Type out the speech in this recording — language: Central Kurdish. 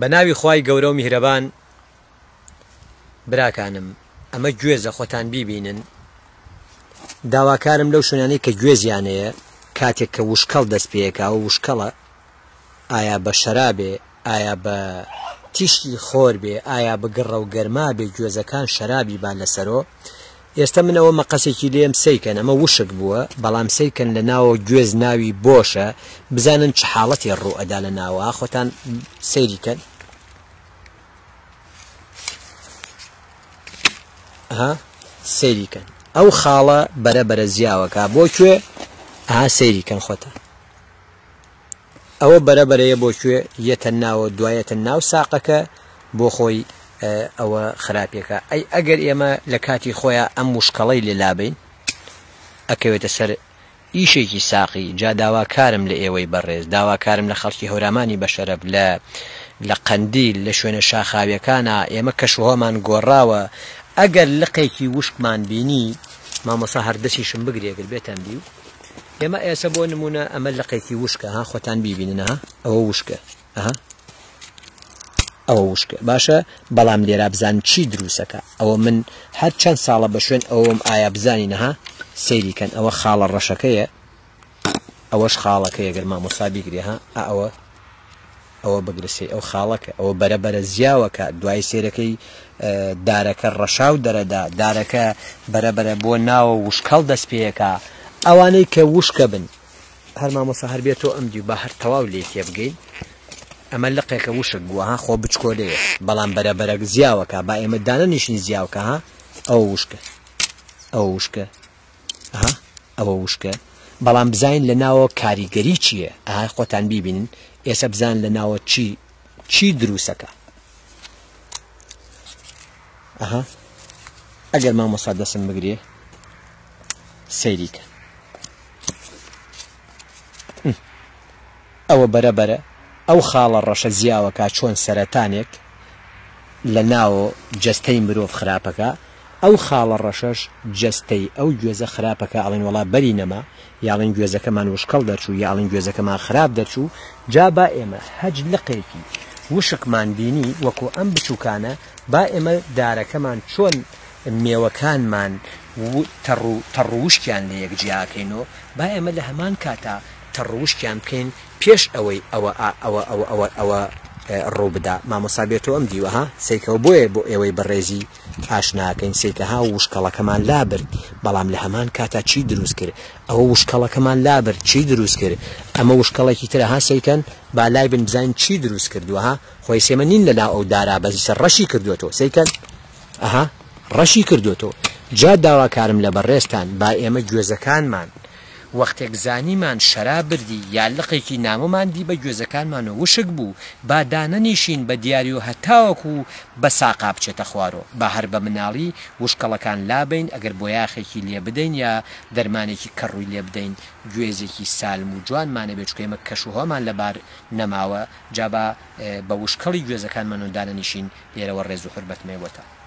بە ناوی خوای گەورە و میهرەبان براکانم ئەمە گوێزە خۆتان بیبینن داواکارم لەو شوێنانەی کە گوێزیان هەیە کاتێک کە وشکەڵ دەست پێکا و وشکەڵە ئایا بە شەرابێ ئایا بە تیشکی خۆر بێ ئایا بە گڕە و گەرما بێ گوێزەکان شەرابی با لەسەرۆ ئێستا من ئەوە مەقەسێکی لێم سەیکەن ئەمە وشک بووە بەڵام سەیکەن لە ناوە گوێز ناوی بۆشە بزانن چ حاڵەتێ ڕوو ئەدا لە ناوە خۆتان سەیری کەن ها سەیری کەن ئەو خاڵە بەرە بەرە زیاوەکە بۆ کوێ ها سەیری کەن خۆتان ئەوە بەرە بەرەیە بۆ کوێ یەتە ناوە دوایەتە ناو ساقەکە بۆ خۆی ئەوە خراپێکە ئەی ئەگەر ئێمە لە کاتی خۆیا ئەم وشکەڵەی لێ لابەین ئەکەوێتە سەر ئیشێکی ساقی جا داواکارم لە ئێوەی بەڕێز داواکارم لە خەڵکی هەورامانی بەشەرەف لە لە قەندیل لە شوێنە شاخاویەکانا ئێمە کەشوهەوامان گۆڕاوە ئەگەر لقێکی وشکمان بینی مامۆستا هەر دەسیشم بگرێ گەر بێتەم دیو ئێمە ئێسە بۆ نمونە ئەمە لقێکی وشکە ها خۆتان بیبینن ها ئەوە وشکە ئەها ئەوە وشکە باشە بەڵام لێرا بزان چی دروستەکە ئەوە من هەر چەند ساڵە بە شوێن ئەوم ئایا بزانی نەها سەیری کەن ئەوە خاڵە ڕەشەکەیە ئەوەش خاڵەکەیە گەر مامۆستا بیگرێ ها ئەوە ئەوە بگرە سەی ئەو خاڵەکە ئەوە بەرە بەرە زیاوەکە دوای سێرەکەی دارەکە ڕەشاو دەرەدا دارەکە بەرە بەرە بۆ ناوە وشکەڵ دەست پێەکە ئەوانەی کە وشکە بن هەر مامۆستا هەر بێتۆ ئەم دیو با هەر تەواو لێی تێبگەین ئەمە لقێکە وشک بووە ها خۆ بچکۆلەیە بەڵام بەرە بەرە زیاوەکە با ئێمە دانەنیشین زیاوکە ها ئەوە وشکە ئەوە وشکە ها ئەوە وشکە بەڵام بزانین لە ناوە کاریگەری چییە ئەها خۆتان بیبینن ئێستا بزان لە ناوە چی چی دروستەکە ئەها ئەگەر مامۆستا دەسم بگرێ سەیری کە ئەوە بەرە بەرە ئەو خاڵە ڕەشە زیاوەکە چۆن سەرەتانێک لە ناوۆ جەستەی مرۆڤ خراپەکە ئەو خاڵە ڕەشەش جەستەی ئەو گوێزە خراپەکە ئەڵێن وەڵا بەری نەما یاڵێن گوێزەکەمان وشکەڵ دەرچوو یاڵێن گوێزەکەمان خراپ دەرچوو جا با ئێمە هەج لقێکی وشکمان بینی وەکو ئەم بچوکانە با ئێمە دارەکەمان چۆن مێوەکانمان تەڕ و تەڕ و وشکیان لە یەک جیا کەینۆ با ئێمە لە هەمان کاتا تەڕ و وشکیان بکەین پێش ئەوەی ئەوە ئا ئەوە ئەوە ئەوە ئەوە ڕوو بدا مامۆستا بێتۆ ئەم دیوە ها سەیکەوە بۆیە بۆ ئێوەی بەڕێزی ئاشناکەین سەیکە ها وشکەڵەکەمان لابرد بەڵام لە هەمان کاتا چی دروست کرد ئەوە وشکەڵەکەمان لابرد چی دروست کرد ئەمە وشکەڵێکی ترە ها سەیکەن با لای بن بزانین چی دروست کردووە ها خۆی سێمە نین لە ناو ئەو دارا بەزیسە ڕەشی کردووەتەوە سەیکەن ئەها ڕەشی کردۆتەوە جا داواکارم لە بەڕێزتان با ئێمە گوێزەکانمان وەختێک زانیمان شەرا بردی یا لقێکی نامۆمان دی بە گوێزەکانمانەوە وشک بوو با دانەنیشین بە دیاریۆ هەتاوەکو بە ساقا بچێتە خوارۆ با هەر بە مناڵی وشکەڵەکان لابەین ئەگەر بۆیاخێکی لێ بدەین یا دەرمانێکی کەڕووی لێ بدەین گوێزێکی سالم و جوانمانەبێ چونکە ئێمە کەشوهەوامان لەبار نەماوە جا با بە وشکەڵی گوێزەکانمانەوە دانەنیشین لێرەوە ڕێز و حورمەتم هەیە بۆتان.